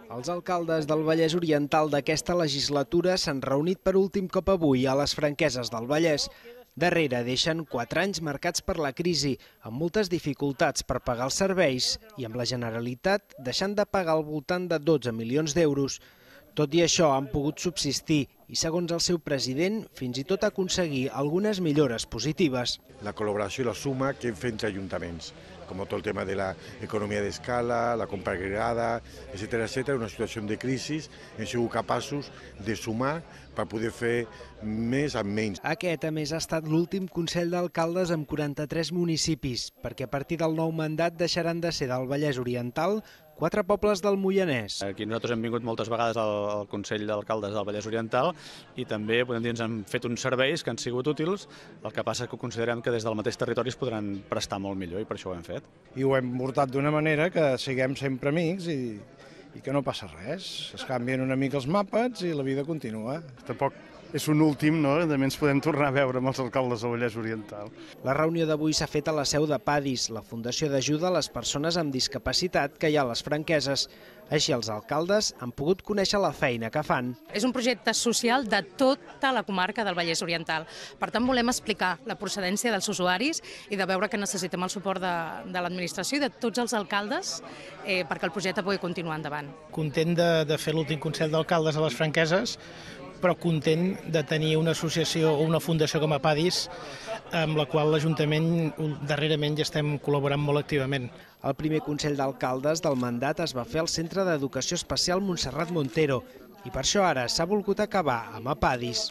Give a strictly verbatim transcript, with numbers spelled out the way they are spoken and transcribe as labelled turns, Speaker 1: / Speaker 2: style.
Speaker 1: Els alcaldes del Vallès Oriental d'aquesta legislatura s'han reunit per últim cop avui a les Franqueses del Vallès. Darrere deixen quatre anys marcats per la crisi, amb moltes dificultats per pagar els serveis i amb la Generalitat deixant de pagar al voltant de dotze milions d'euros. Tot i això han pogut subsistir i, segons el seu president, fins i tot aconseguir algunes millores positives.
Speaker 2: La col·laboració i la suma que hem fet entre ajuntaments, com tot el tema de l'economia d'escala, la compra agregada, etcètera, etcètera, una situació de crisi, hem sigut capaços de sumar per poder fer més amb menys.
Speaker 1: Aquest, a més, ha estat l'últim Consell d'Alcaldes amb quaranta-tres municipis, perquè a partir del nou mandat deixaran de ser del Vallès Oriental quatre pobles del Moianès.
Speaker 3: Aquí nosaltres hem vingut moltes vegades al, al Consell d'Alcaldes del Vallès Oriental i també podem dir ens han fet uns serveis que han sigut útils, el que passa que considerem que des del mateix territori es podran prestar molt millor i per això ho hem fet.
Speaker 4: I ho hem portat d'una manera que siguem sempre amics i, i que no passa res. Es canvien una mica els mapes i la vida continua.
Speaker 5: Tampoc és un últim, no? També ens podem tornar a veure amb els alcaldes del Vallès Oriental.
Speaker 1: La reunió d'avui s'ha fet a la seu de PADIS, la Fundació d'Ajuda a les Persones amb Discapacitat que hi ha a les Franqueses. Així els alcaldes han pogut conèixer la feina que fan.
Speaker 6: És un projecte social de tota la comarca del Vallès Oriental. Per tant, volem explicar la procedència dels usuaris i de veure que necessitem el suport de, de l'administració i de tots els alcaldes eh, perquè el projecte pugui continuar endavant.
Speaker 7: Content de, de fer l'últim Consell d'Alcaldes a les Franqueses, però content de tenir una associació o una fundació com a PADIS amb la qual l'Ajuntament darrerament ja estem col·laborant molt activament.
Speaker 1: El primer Consell d'Alcaldes del mandat es va fer al Centre d'Educació Especial Montserrat Montero i per això ara s'ha volgut acabar amb a PADIS.